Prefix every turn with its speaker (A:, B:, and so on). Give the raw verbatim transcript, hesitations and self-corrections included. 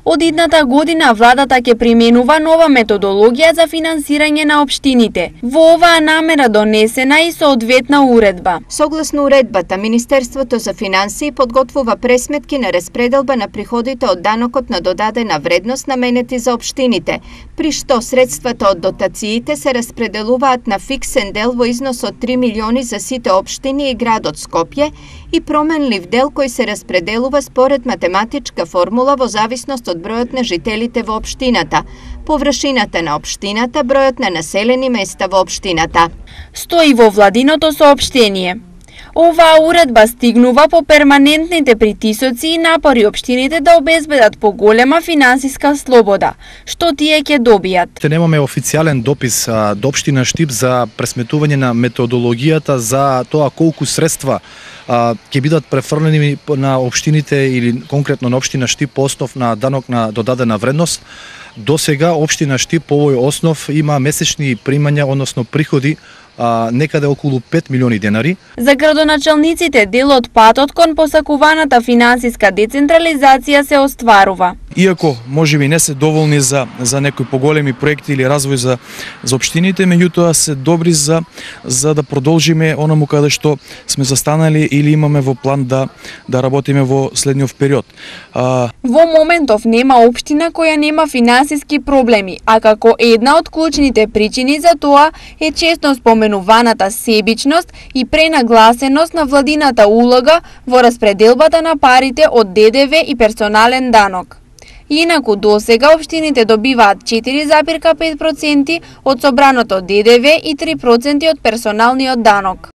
A: Од идната година владата ќе применува нова методологија за финансирање на општините. Во оваа намера донесена и соодветна уредба.
B: Согласно уредбата, Министерството за финансии подготвува пресметки на распределба на приходите од данокот на додадена вредност наменети за општините, при што средствата од дотациите се распределуваат на фиксен дел во износ од три милиони за сите општини и градот Скопје и променлив дел кој се распределува според математичка формула во зависност од бројот на жителите во општината, површината на општината, бројот на населени места во општината.
A: Стои во владиното соопштение. Оваа уредба стигнува по перманентните притисоци и напори општините да обезбедат поголема финансиска слобода, што тие ќе добијат.
C: Те немаме официјален допис а, до општина Штип за пресметување на методологијата за тоа колку средства а, ќе бидат префрлени на општините или конкретно на општина Штип по основ на данок на додадена вредност. До сега општина Штип по овој основ има месечни примања, односно приходи а, некаде околу пет милиони денари.
A: За градоначалниците дел од патот кон посакуваната финансиска децентрализација се остварува.
D: Иако можеби не се доволни за за некои поголеми проекти или развој за за општините, меѓутоа се добри за за да продолжиме онаму каде што сме застанали или имаме во план да да работиме во следниот период. А...
A: Во моментов нема општина која нема финансиски проблеми, а како една од клучните причини за тоа е често споменуваната себичност и пренагласеност на владината улога во распределбата на парите од Д Д В и персонален данок. Инаку досега општините добиваат четири запирка пет проценти од собраното Д Д В и три проценти од персоналниот данок.